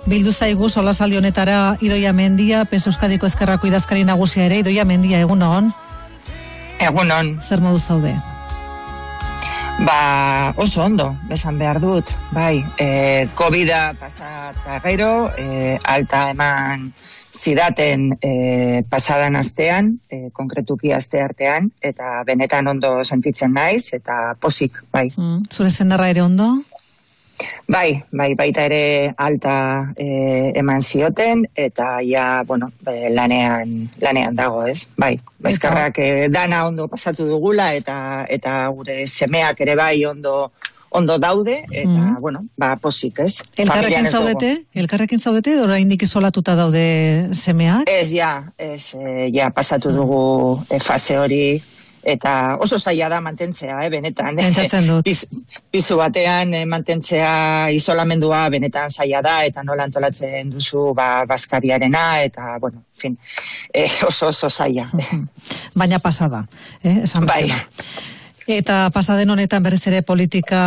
Bildu zaigu solasaldi honetara Idoia Mendia, PES Euskadiko Ezkerrako idazkari nagusia ere. Idoia Mendia, egunon. Egunon. Zer modu zaude? Oso ondo, esan behar dut, bai, COVID-a pasata gero, alta eman zidaten pasadan astean, konkretuki aste artean, eta benetan ondo sentitzen naiz, eta pozik, bai. Zure senarra ere ondo? Bai, baita ere alta eman zioten, eta ja, lanean dago, ez? Bai, eskerrak dana ondo pasatu dugula, eta gure semeak ere bai ondo daude, eta, posik, ez? Elkarrekin zaudete, edo oraindik isolatuta daude semeak? Ez, pasatu dugu fase hori, eta oso zaila da mantentzea, benetan. Pentsatzen dut. Pisu batean mantentzea isolamendua benetan zaila da, eta nola antolatzen duzu bazkariarena, eta, oso zaila. Baina pasada, esan bezala. Eta pasaden honetan berriz ere politika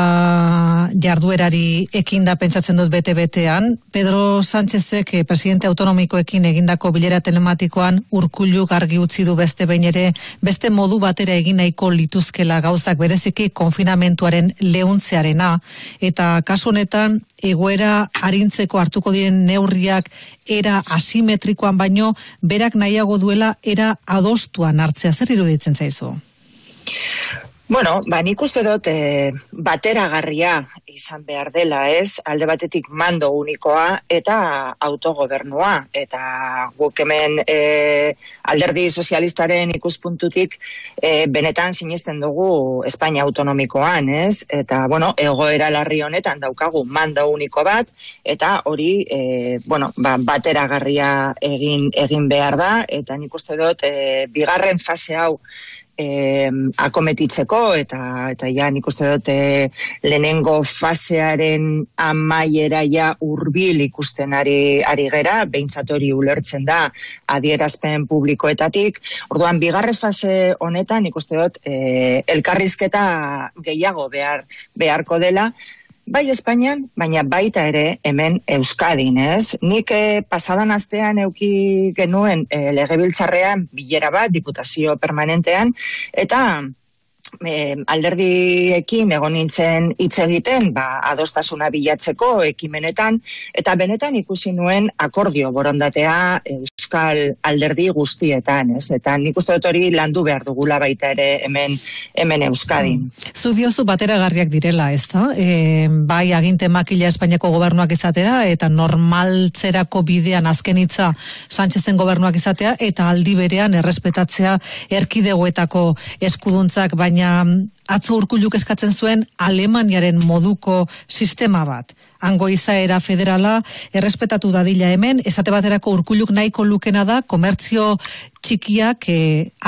jarduerari ekinda pentsatzen dut bete-betean. Pedro Sánchezek presidente autonomikoekin egindako bilera telematikoan Urkulluk argi utzi du beste behin ere, beste modu batera egin nahiko lituzkela gauzak, bereziki konfinamentuaren leuntzearena. Eta kasu honetan egoera arintzeko hartuko diren neurriak era asimetrikoan baino, berak nahiago duela era adostuan hartzea. Zer iruditzen zaizu? Nik uste dut bateragarria izan behar dela, ez? Alde batetik mando unikoa eta autogobernua. Eta guk hemen alderdi sozialistaren ikuspuntutik benetan sinesten dugu Espainia autonomikoan, ez? Eta, egoera larri honetan daukagu mando uniko bat, eta hori, bateragarria egin behar da, eta nik uste dut bigarren fase hau akometitzeko, eta nik uste dut lehenengo fasearen amaiera hurbil ikusten ari gera, behintzat hori ulertzen da adierazpen publikoetatik. Orduan, bigarren fase honetan nik uste dut elkarrizketa gehiago beharko dela, bai Espainian, baina baita ere hemen Euskadin, ez? Nik pasadan astean eduki genuen legebiltzarrean bilera bat, diputazio permanentean, eta alderdiekin egon nintzen hitz egiten, adostasuna bilatzeko ekimenetan, eta benetan ikusi nuen akordio borondatea Euskal alderdi guztietan, ez? Eta nik uste dut hori landu behar dugula baita ere hemen Euskadin. Zu diozu bateragarriak direla, ez da? Bai aginte makila Espainiako gobernuak izatera, eta normaltzerako bidean azken hitza Sánchezen gobernuak izatea, eta aldi berean errespetatzea erkidegoetako eskuduntzak, baina atzo Urkulluk eskatzen zuen Alemaniaren moduko sistema bat. Hango izaera federala errespetatu dadila hemen, esate baterako Urkulluk nahiko lukena da komertzio txikiak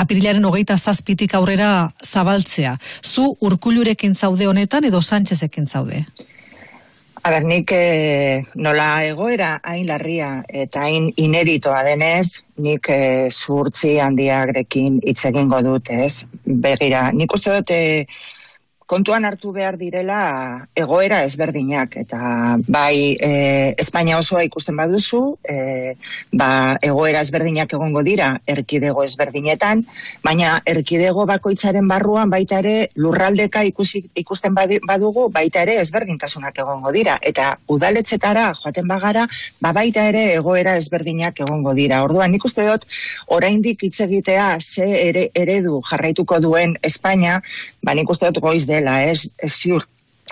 apirilaren 27 aurrera zabaltzea. Zu Urkullurekin zaude honetan edo Sánchezekin zaude? Nik nola egoera hain larria eta hain ineditoa denez, nik zuhurtzi handiagrekin hitz egingo dut, ez? Begira, nik uste dut kontuan hartu behar direla egoera ezberdinak, eta bai Espainia osoa ikusten baduzu, egoera ezberdinak egongo dira erkidego ezberdinetan, baina erkidego bakoitzaren barruan baita ere lurraldeka ikusten badugu, baita ere ezberdintasunak egongo dira, eta udaletxetara joaten bagara, baita ere egoera ezberdinak egongo dira. Orduan, nik uste dut oraindik hitz egitea ze eredu jarraituko duen Espainia, nik uste dut goiz dela, ez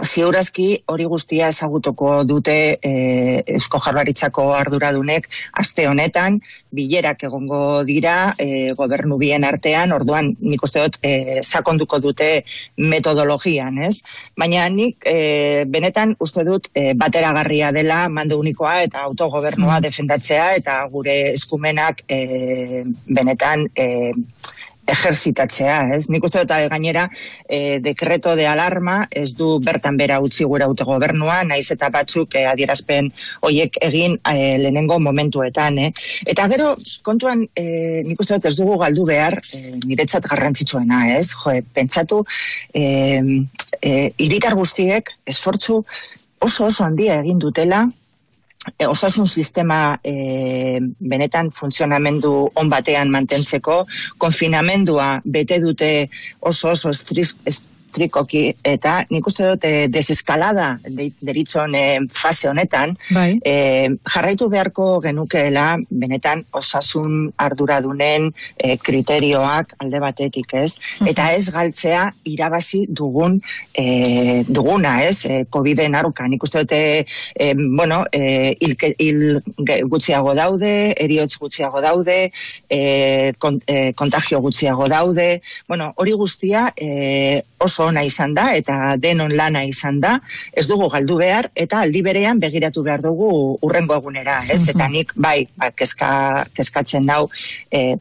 ziurazki hori guztia ezagutuko dute Eusko Jaurlaritzako arduradunek aste honetan, bilerak egongo dira gobernu bien artean, orduan nik uste dut sakonduko dute metodologian, ez? Baina nik benetan uste dut bateragarria dela mando unikoa eta autogobernua defendatzea, eta gure eskumenak benetan ejerzitatzea, ez? Nik uste dut gainera dekreto de alarma ez du bertan bera utzi gure autogobernua, naiz eta batzuk adierazpen hoiek egin lehenengo momentuetan, Eta gero, kontuan, nik uste dut ez dugu galdu behar niretzat garrantzitsuena, ez? Pentsatu, hiritar guztiek esfortzu oso handia egin dutela osasun sistema benetan funtzionamendu on batean mantentzeko, konfinamendua bete dute oso estrikoki, eta nik uste dut deseskalada deritzon fase honetan, jarraitu beharko genukeela benetan osasun arduradunen kriterioak alde batetik, ez? Eta ez galtzea irabazi duguna, ez? COVID-en aurka. Nik uste dut, hil gutxiago daude, heriotz gutxiago daude, kontagio gutxiago daude. Bueno, hori guztia oso ona izan da, eta denon lana izan da, ez dugu galdu behar, eta aldi berean begiratu behar dugu urrengo egunera, ez? Eta nik, kezkatzen dau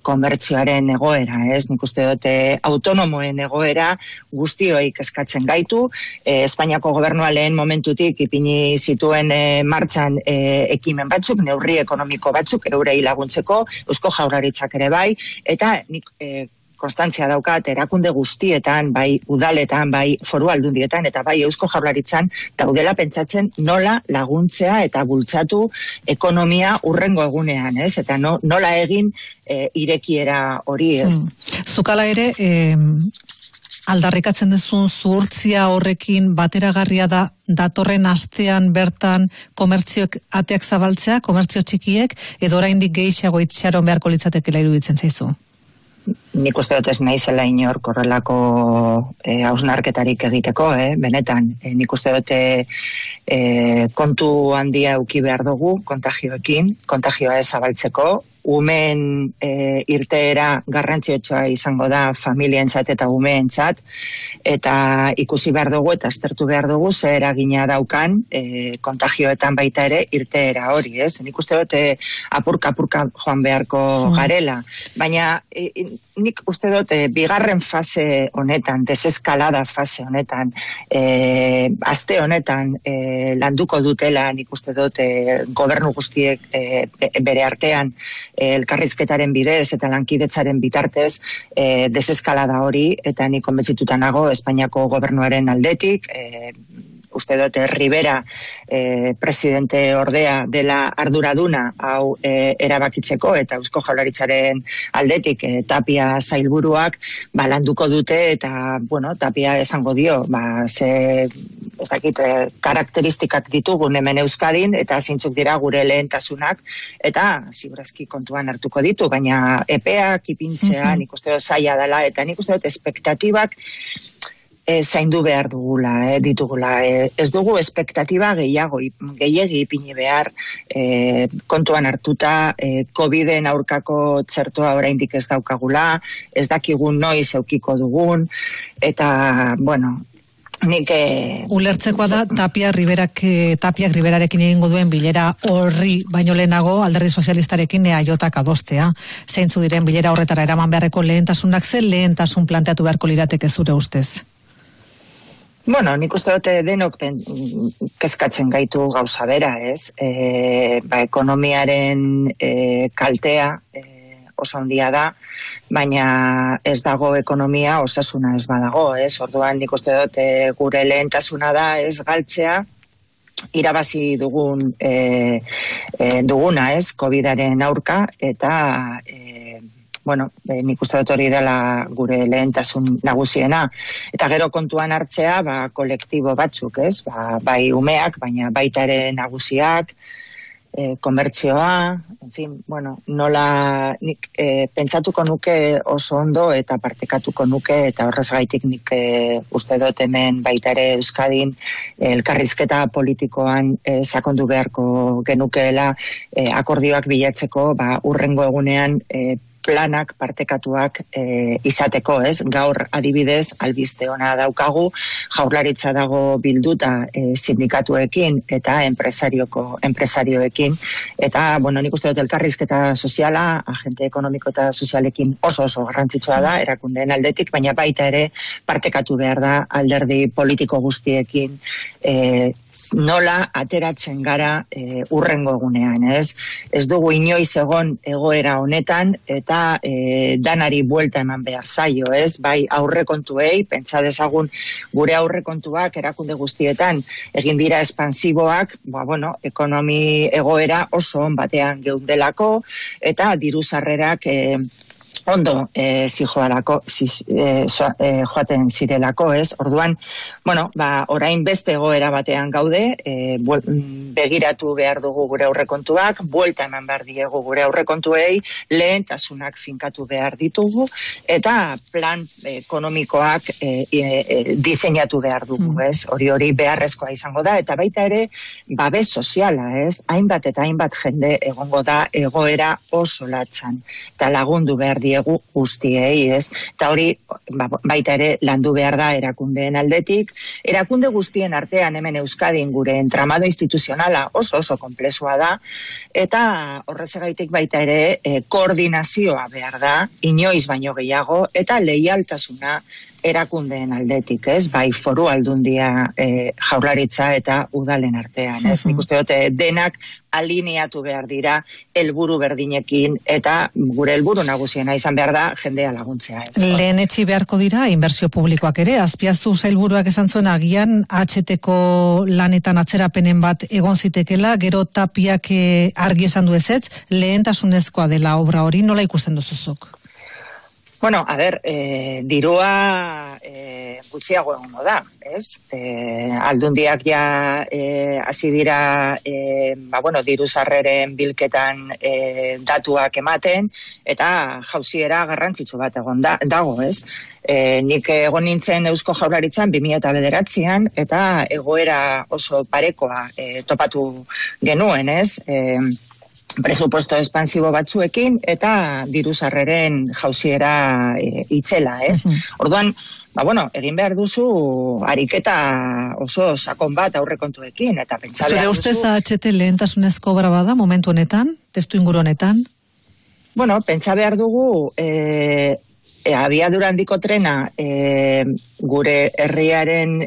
komertzioaren egoera, ez? Nik uste dut autonomoen egoera guztioi kezkatzen gaitu, Espainiako gobernua lehen momentutik ipini zituen martxan ekimen batzuk, neurri ekonomiko batzuk, eurei laguntzeko, Eusko Jaurlaritzak ere bai, eta nik konstantzia daukat erakunde guztietan, bai udaletan, bai foru aldundietan, eta bai Eusko Jaurlaritzan daudela pentsatzen nola laguntzea eta bultzatu ekonomia urrengo egunean, ez? Eta nola egin irekiera hori, ez? Zukala ere, aldarrikatzen duzun zuhurtzia horrekin bateragarria da datorren astean bertan komertzioek ateak zabaltzea, komertzio txikiek, edo oraindik gehiago itxaron beharko litzatekela iruditzen zaizu? Nik uste dut ez naizela inor korrelako hausnarketarik egiteko, benetan. Nik uste dut kontu handia eduki behar dugu kontagioekin, kontagioa ez zabaltzeko. Umeen irteera garrantziotsua izango da familientzat eta umeentzat, eta ikusi behar dugu eta aztertu behar dugu ze eragina daukan kontagioetan baita ere irteera hori, ez? Nik uste dut apurka joan beharko garela, baina nik uste dut bigarren fase honetan, deseskalada fase honetan, aste honetan landuko dutela, nik uste dut gobernu guztiek bere artean elkarrizketaren bidez eta lankidetzaren bitartez deseskalada hori, eta nik konbentzituta nago Espainiako gobernuaren aldetik, uste dut Rivera presidente ordea dela arduraduna hau erabakitzeko, eta Eusko Jaurlaritzaren aldetik Tapia sailburuak landuko dute, eta Tapia esango dio karakteristikak ditugun hemen Euskadin, eta zeintzuk dira gure lehentasunak, eta segurazki kontuan hartuko ditu, baina epeak ipintzea nik uste dut zaila dela, eta nik uste dut espektatibak zaindu behar ditugula. Ez dugu espektatiba gehiegi ipini behar, kontuan hartuta, COVID-en aurkako txertoa oraindik ez daukagula, ez dakigun noiz eukiko dugun, eta, nik... Ulertzekoa da, Tapiak Riverarekin egingo duen bilera horri baino lehenago alderdi sozialistarekin EAJak adostea. Zeintzu diren bilera horretara eraman beharreko lehentasunak, ze lehentasun planteatu beharko lirateke zure ustez? Nik uste dute denok kezkatzen gaitu gauza bera, ez? Ekonomiaren kaltea oso handia da, baina ez dago ekonomia, osasuna ez badago, ez? Orduan nik uste dut gure lehentasuna da ez galtzea, irabazi duguna, ez? COVID-aren aurka, eta... nik uste dut hori dela gure lehentasun nagusiena. Eta gero kontuan hartzea, kolektibo batzuk, ez? Bai umeak, baina baita ere nagusiak, komertzioa, nola nik pentsatuko nuke oso ondo eta partekatuko nuke, eta horrez gaitik nik uste dut hemen baita ere Euskadin elkarrizketa politikoan sakondu beharko genukeela akordioak bilatzeko urrengo egunean planak partekatuak izateko, ez? Gaur adibidez albiste ona daukagu, Jaurlaritza dago bilduta sindikatuekin eta enpresarioekin, eta nik uste dut elkarrizketa soziala, agente ekonomiko eta sozialekin oso garrantzitsua da, erakundeen aldetik, baina baita ere partekatu behar da alderdi politiko guztiekin nola ateratzen gara urrengo egunean, ez? Ez dugu inoiz egon egoera honetan eta danari buelta eman behar zaio, ez? Bai aurrekontuei, pentsa dezagun gure aurrekontuak erakunde guztietan egin dira espansiboak, ekonomi egoera oso on batean geundelako eta diru sarrerak ondo joaten zirelako, ez? Orduan, orain beste egoera batean gaude, begiratu behar dugu gure aurrekontuak, buelta eman behar diegu gure aurrekontuei, lehentasunak finkatu behar ditugu, eta plan ekonomikoak diseinatu behar dugu, ez? Hori beharrezkoa izango da, eta baita ere, babes soziala, ez? Hainbat eta hainbat jende egongo da egoera oso latzan, eta lagundu behar diegu guztiei, ez? Eta hori baita ere landu behar da erakundeen aldetik. Erakunde guztien artean hemen Euskadin gure entramado instituzionala oso konplexua da, eta horrezagaitik baita ere koordinazioa behar da, inoiz baino gehiago, eta leialtasuna erakundeen aldetik, ez? Bai foru aldundia Jaurlaritza eta udalen artean, ez? Nik uste dut denak alineatu behar dira helburu berdinekin eta gure helburu nagusiena izan behar da jendea laguntzea, ez? Lehen etxi beharko dira inbertsio publikoak ere, Azpiazu sailburuak esan zuen agian HT-ko lanetan atzerapenen bat egon zitekela, gero Tapiak argi esan du ezetz, lehentasunezkoa dela obra hori, nola ikusten duzuzuk? Dirua gutxiago egongo da, ez? Aldundiak ja hasi dira diru sarreren bilketan datuak ematen, eta jauziera garrantzitsu bat dago, ez? Nik egon nintzen Eusko Jaurlaritzan 2009an, eta egoera oso parekoa topatu genuen, ez? Presupuesto expansibo batzuekin eta diru sarreren jauziera itzela, ez? Orduan, egin behar duzu ariketa oso sakon bat aurrekontuekin, eta pentsa behar duzu... Zure ustez HT lehentasunezko obra bada momentu honetan, testu inguru honetan? Pentsa behar dugu abiadura handiko trena gure herriaren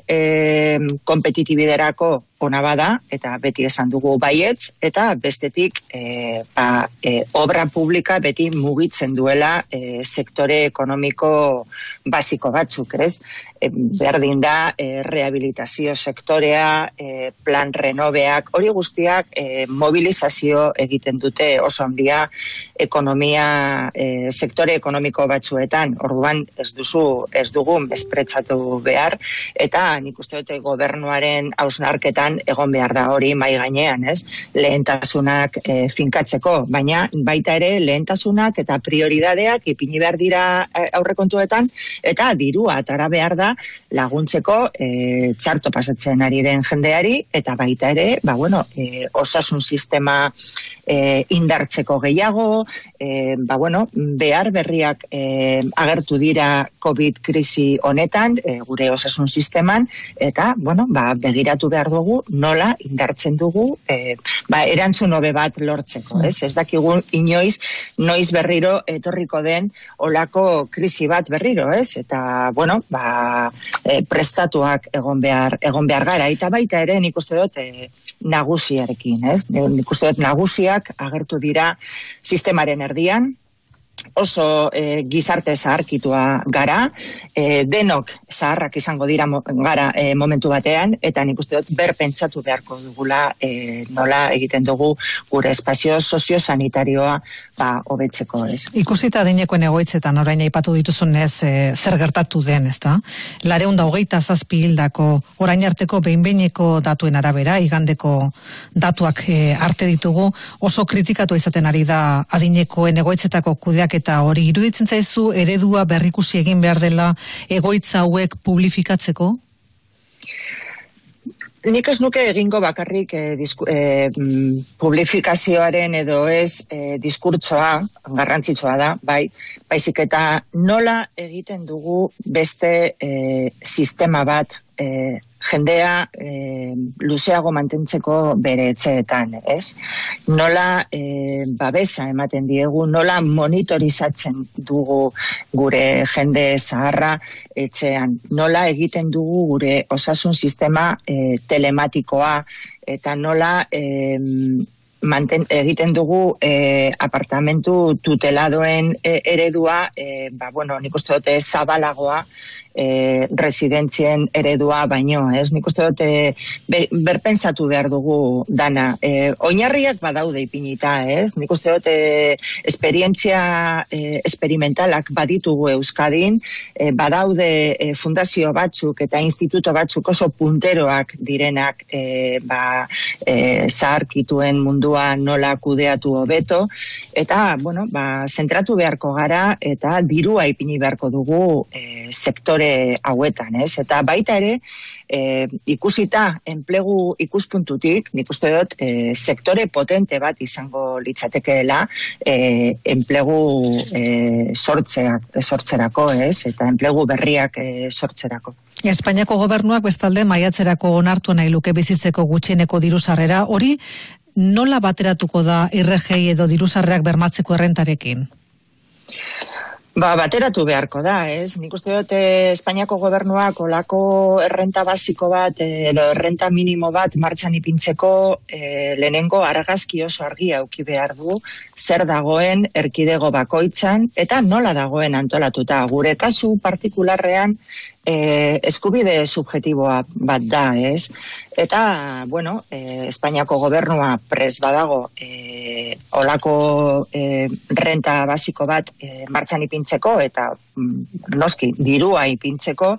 kompetitibiderako ona bada, eta beti esan dugu baietz, eta bestetik obra publika beti mugitzen duela sektore ekonomiko basiko batzuk, ez? Berdin da, rehabilitazio sektorea, plan renoveak, hori guztiak mobilizazio egiten dute oso handia ekonomia, sektore ekonomiko batzuetan. Orduan ez dugu mespretzatu behar, eta nik uste dute gobernuaren hausnarketan egon behar da hori mai gainean, ez? Lehentasunak finkatzeko, baina baita ere lehentasunak eta prioridadeak ipini behar dira aurrekontuetan, eta dirua atara behar da laguntzeko txarto pasatzen ari den jendeari, eta baita ere, osasun sistema indartzeko gehiago, behar berriak agertu dira COVID krisi honetan, gure osasun sisteman, eta, begiratu behar dugu nola indartzen dugu erantzun hobe bat lortzeko, ez? Ez dakigu inoiz, noiz berriro etorriko den olako krisi bat berriro, ez? Eta, prestatuak egon behar gara, eta baita ere nik uste dut nagusiarekin, ez? Nik uste dut nagusiak agertu dira sistemaren erdian, oso gizarte zaharkitua gara, denok zaharrak izango dira gara momentu batean, eta nik uste dut berpentsatu beharko dugula nola egiten dugu gure espazio soziosanitarioa hobetzeko, ez. Ikusita adinekoen egoitzetan orain aipatu dituzunez zer gertatu den, ezta? 427 hildako orain arteko behin-behineko datuen arabera, igandeko datuak arte ditugu, oso kritikatu izaten ari da adinekoen egoitzetako kudeaketa hori. Iruditzen zaizu eredua berrikusi egin behar dela egoitza hauek publifikatzeko? Nik ez nuke egingo bakarrik publifikazioaren edo ez diskurtsoa, garrantzitsua da, baizik eta nola egiten dugu beste sistema bat jendea luzeago mantentzeko bere etxeetan, ez? Nola babesa ematen diegu, nola monitorizatzen dugu gure jende zaharra etxean, nola egiten dugu gure osasun sistema telematikoa, eta nola egiten dugu apartamentu tuteladoen eredua, nik uste dute zabalagoa, residentzien eredua baino, ez? Nik uste dut berpentsatu behar dugu dana. Oinarriak badaude ipinita, ez? Nik uste dut esperientzia esperimentalak baditugu Euskadin, badaude fundazio batzuk eta instituto batzuk oso punteroak direnak zaharkituen mundua nola kudeatu hobeto, eta, zentratu beharko gara eta dirua ipini beharko dugu sektore hauetan, ez? Eta baita ere, ikusita enplegu ikuspuntutik, nik uste dut sektore potente bat izango litzatekeela enplegu sortzerako, ez? Eta enplegu berriak sortzerako. Espainiako gobernuak bestalde maiatzerako onartu nahi luke bizitzeko gutxieneko diru-sarrera, hori nola bateratuko da IRGI edo diru-sarrerak bermatzeko errentarekin? Bateratu beharko da, ez? Nik uste dut Espainiako gobernuak olako errenta basiko bat edo errenta minimo bat martxan ipintzeko lehenengo argazki oso argia auki behar du zer dagoen erkidego bakoitzan eta nola dagoen antolatuta. Gure kasu partikularrean eskubide subjetiboa bat da, ez? Eta, Espainiako gobernua pres badago olako renta basiko bat martxan ipintzeko eta noski dirua ipintzeko,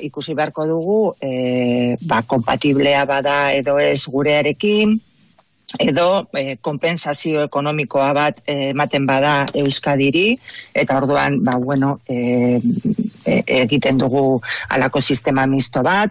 ikusi beharko dugu kompatiblea bada edo ez gurearekin, edo konpensazio ekonomikoa bat ematen bada Euskadiri, eta orduan, egiten dugu alako sistema misto bat,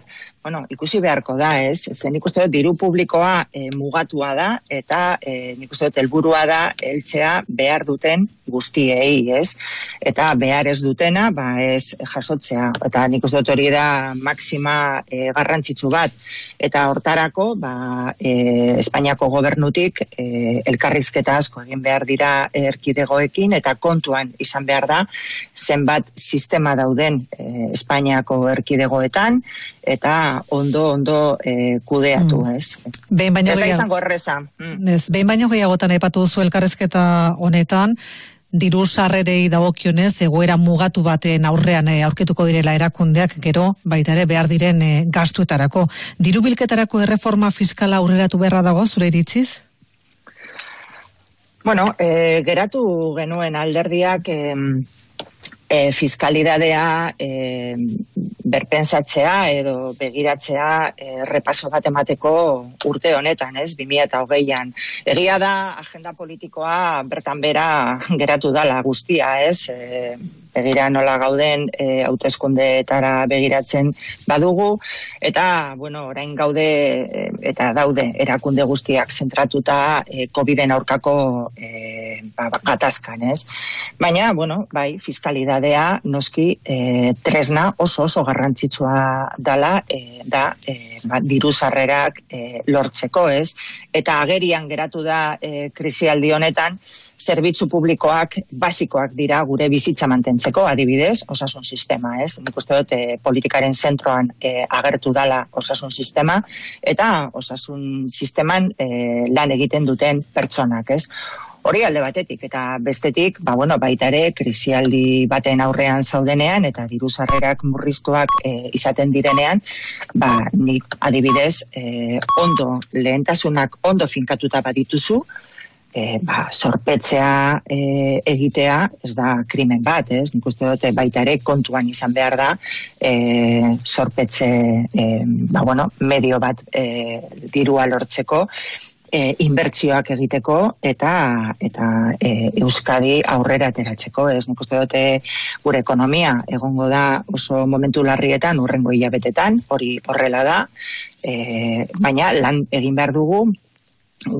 ikusi beharko da, ez? Zen nik uste dut diru publikoa mugatua da, eta nik uste dut helburua da heltzea behar duten guztiei, ez? Eta behar ez dutena, ez jasotzea. Eta nik uste dut hori da maksima garrantzitsu bat. Eta hortarako, Espainiako gobernutik elkarrizketa asko egin behar dira erkidegoekin, eta kontuan izan behar da zenbat sistema dauden Espainiako erkidegoetan, eta ondo kudeatu, ez? Ez da izango erreza. Behin baino gehiagotan aipatu duzu elkarrizketa honetan, diru sarrerei dagokionez egoera mugatu baten aurrean aurkituko direla erakundeak, gero baita ere behar diren gastuetarako. Diru bilketarako erreforma fiskala aurreratu beharra dago, zure iritziz? Geratu genuen alderdiak fiskalidadea berpentsatzea edo begiratzea repaso bat emateko urte honetan, ez? 2020an. Egia da agenda politikoa bertan bera geratu dala guztia, ez? Begira nola gauden hauteskundeetara begiratzen badugu, eta, orain gaude eta daude erakunde guztiak zentratuta COVID-en aurkako gatazkan, ez? Baina, fiskalidadea noski tresna oso garrantzitsua dala diru sarrerak lortzeko, ez? Eta agerian geratu da krisialdi honetan, zerbitzu publikoak basikoak dira gure bizitza mantentzeko, adibidez, osasun sistema, ez? Nik uste dut politikaren zentroan agertu dala osasun sistema, eta osasun sisteman lan egiten duten pertsonak, ez? Hori alde batetik, eta bestetik, baita ere, krisialdi baten aurrean zaudenean, eta diru sarrerak murriztuak izaten direnean, nik adibidez, lehentasunak ondo finkatuta badituzu, zorpetzea egitea ez da krimen bat, ez? Nik uste dut baita ere kontuan izan behar da zorpetze medio bat dirua lortzeko, inbertsioak egiteko eta Euskadi aurrera ateratzeko, ez? Nik uste dut gure ekonomia egongo da oso momentu larrietan hurrengo hilabetetan, hori horrela da, baina lan egin behar dugu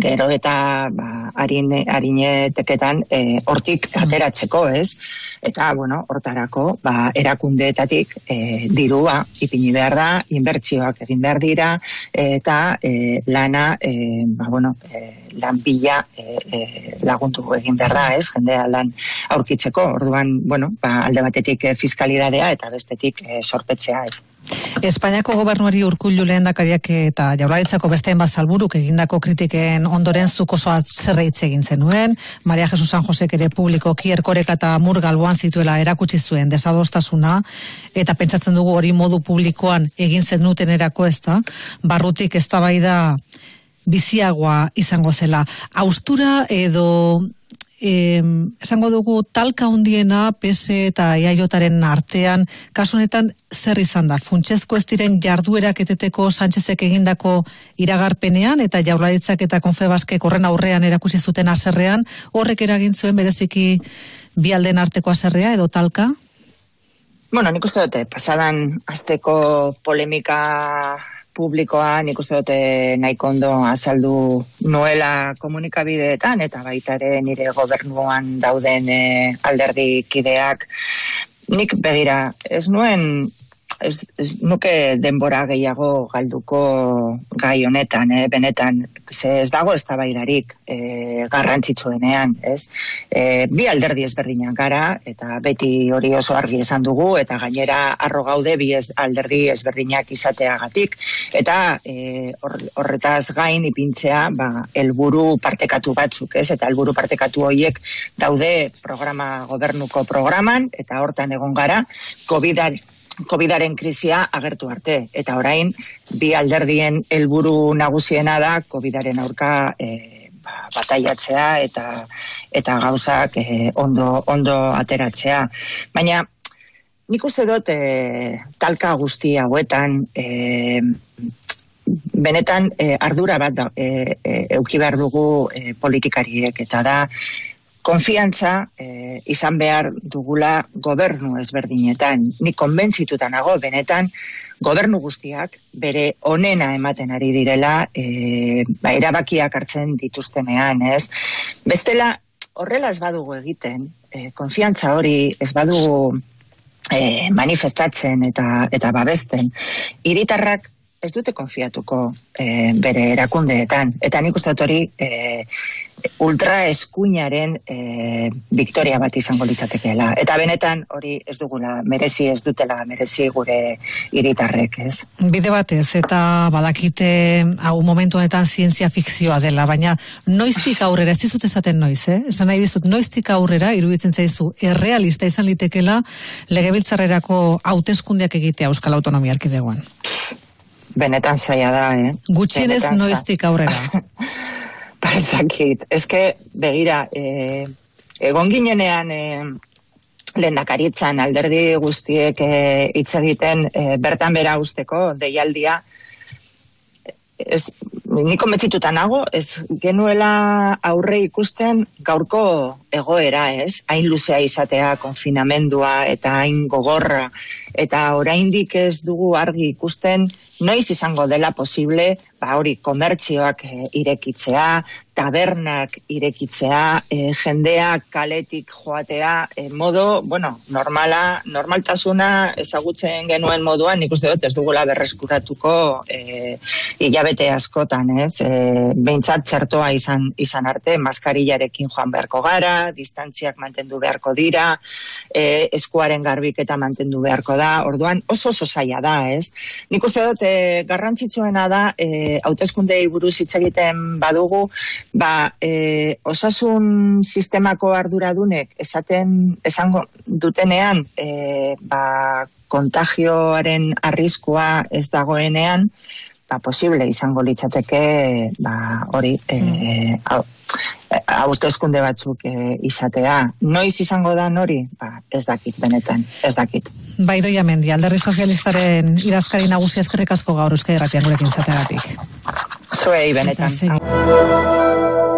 gero eta harineteketan hortik ateratzeko, ez? Eta, hortarako, erakundeetatik dirua ipini behar da, inbertsioak egin behar dira, eta lana, lan bila lagundu egin behar da, ez? Jendea lan aurkitzeko, orduan, alde batetik fiskalidadea eta bestetik sorpetzea, ez? Espainiako gobernuari Urkullu lehendakariak eta Jaurlaritzako besteen bat salburuk egindako kritiken ondoren zuk oso atzerreitz egin zenuen, Maria Jesus San Josek ere publikoki Erkoreka eta Murga alboan zituela erakutsi zuen desadostasuna, eta pentsatzen dugu hori modu publikoan egin zenutenerako, ezta, barrutik eztabaida biziagoa izango zela. Haustura edo esango dugu talka handiena PS eta EAJaren artean, kasu honetan zer izan da? Funtsezko ez diren jarduerak eteteko Sánchezek egindako iragarpenean eta Jaurlaritzak eta Confebaskek horren aurrean erakusi zuten haserrean, horrek eragin zuen bereziki bi aldeen arteko haserrea edo talka? Nik uste dute, pasadan asteko polemika publikoa nik uste dute nahiko ondo azaldu noela komunikabideetan eta baita ere nire gobernuan dauden alderdikideak. Nik begira, ez nuke denbora gehiago galduko gai honetan, benetan, ez dago eztabaidarik garrantzitsuenean, ez? Bi alderdi ezberdinak gara, eta beti hori oso argi esan dugu, eta gainera arro gaude bi alderdi ezberdinak izateagatik, eta horretaz gain ipintzea, helburu partekatu batzuk, ez? Eta helburu partekatu horiek daude gobernuko programan, eta hortan egon gara, COVID-aren krisia agertu arte, eta orain bi alderdien helburu nagusiena da COVID-aren aurka bataiatzea eta gauzak ondo ateratzea. Baina nik uste dut talka guzti hauetan benetan ardura bat eduki behar dugu politikariek, eta da konfiantza izan behar dugula gobernu ezberdinetan. Nik konbentzituta nago, benetan, gobernu guztiak bere onena ematen ari direla erabakiak hartzen dituztenean, ez? Bestela, horrela ez badugu egiten, konfiantza hori ez badugu manifestatzen eta babesten, hiritarrak ez dute konfiatuko bere erakundeetan. Eta nik uste dut hori ultraeskuinaren victoria bat izango litzatekeela. Eta benetan hori ez dutela merezi gure hiritarrek, ez? Bide batez, eta badakite hau momentu honetan zientzia fikzioa dela, baina noiztik aurrera, ez dizut esaten noiz, esan nahi dizut, noiztik aurrera, iruditzen zaizu, errealista izan litekela legebiltzarrerako hauteskundeak egitea Euskal Autonomia Erkidegoan. Benetan zaila da, Gutxienez noiztik aurrera. Ez dakit. Begira, egon ginenean lehendakaritzan alderdi guztiek hitz egiten bertan bera usteko deialdia, ni konbentzituta nago, ez genuela aurre ikusten gaurko egoera, ez? Hain luzea izatea, konfinamendua eta hain gogorra, eta oraindik ez dugu argi ikusten noiz izango dela posible, hori komertzioak irekitzea, tabernak irekitzea, jendeak kaletik joatea, modo, normaltasuna ezagutzen genuen moduan, nik uste dut ez dugula berreskuratuko hilabete askotan, ez? Behintzat txertoa izan arte, maskarillarekin joan beharko gara, distantziak mantendu beharko dira, eskuaren garbiketa mantendu beharko da, orduan oso zaila da, ez? Nik uste dut garrantzitsuena da, hauteskundei buruz hitz egiten badugu, osasun sistemako arduradunek esango dutenean, kontagioaren arriskua ez dagoenean, posible izango litzateke hori hauteskunde batzuk izatea. Noiz izango da hori? Ez dakit, benetan, ez dakit. Idoia Mendi, Alderdi Sozialistaren idazkari nagusia, eskerrik asko gaur Euskadi Irratian gurekin izateagatik. Zuei, benetan. Zuei, benetan.